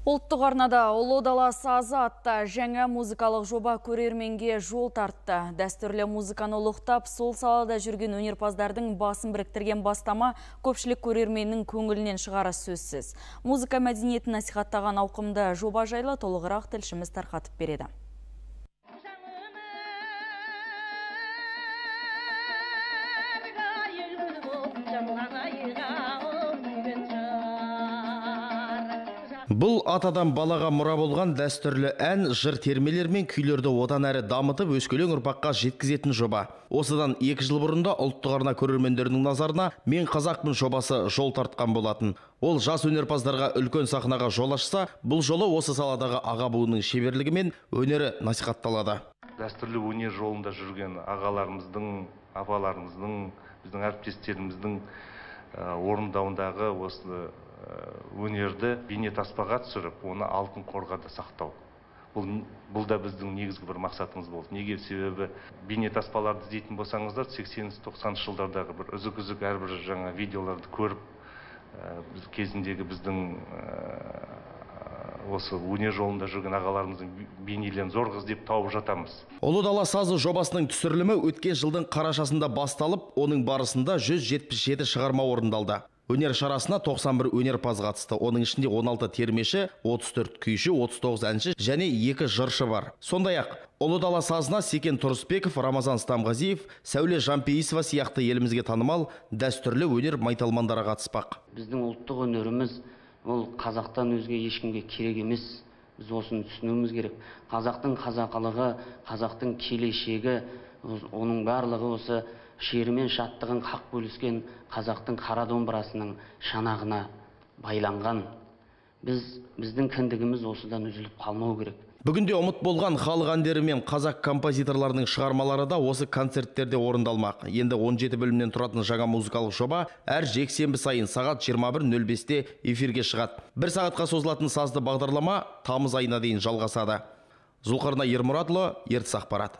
Ұлттық арнада «Ұлы дала сазы» атты жаңа музыкалық жоба көрерменге жол тартты. Дәстүрлі музыканы ұлықтап, сол салада жүрген өнерпаздардың басын біріктірген бастама көпшілік көрерменнің көңілінен шығары сөзсіз. Музыка мәдениетін насихаттаған ауқымды жоба жайлы толығырақ тілшіміз тарқатып береді. Бұл атадан балаға мұра болған дәстүрлі ән, жыр термелер мен күйлерді одан әрі дамытып өскелең ұрпаққа жеткізетін жоба. Осыдан 2 жыл бұрында ұлттық арна көрермендерінің назарына «Мен қазақпын» жобасы жол тартқан болатын. Ол жас өнерпаздарға үлкен сахнаға жол ашса, бұл жолы осы саладағы аға буынның шеберлігі мен өнері насихатталады. Дәстүрлі өнер жолында жүрген ағаларымыздың, апаларымыздың, біздің әріптестеріміздің орындауындағы осы өнерді бейнетаспаға түсіріп, оны алтын қорғада сақтау. Бұл да біздің негізгі бір мақсатымыз болды. Неге? Себебі бейнетаспаларды іздейтін болсаңыздар, 80-90 жылдардағы бір үзік-үзік әрбір жаңа видеоларды көріп, біз кезіндегі біздің осы өнер жолында жүрген ағаларымыздың бейнелерін зорға іздеп тауып жатамыз. «Ұлы дала сазы» жобасының түсірілімі өткен жылдың қарашасында басталып, оның барысында 177 шығарма орындалды. Өнер шарасына 91 өнерпаз қатысты. Оның ішінде 16 термеші, 34 күйші, 39 әнші және 2 жыршы бар. Сондай-ақ «Ұлы дала сазына» Секен Тұрысбеков, Рамазан Стамғазиев, Сәуле Жампейісова сияқты елімізге танымал дәстүрлі өнер майталмандары қатыспақ. Біздің ұлттық өнеріміз ол қазақтан өзге ешкімге керек емес. Біз осыны түсінуіміз керек. Қазақтың қазақылығы, қазақтың келешегі, оның барлығы осы шері мен шаттығын қақ бөліскен қазақтың қара домбырасының шанағына байланған. Біздің кіндігіміз осыдан үзіліп қалмау керек. Бүгінде ұмыт болған халық әндері мен қазақ композиторларының шығармалары да осы концерттерде орындалмақ. Енді 17 бөлімнен тұратын жаңа музыкалық жоба әр жексенбі сайын сағат 21:05-те эфирге шығады. 1 сағатқа созылатын сазды бағдарлама тамыз айына дейін жалғасады. Зұлқарнай Ермұратұлы, Ертіс ақпарат.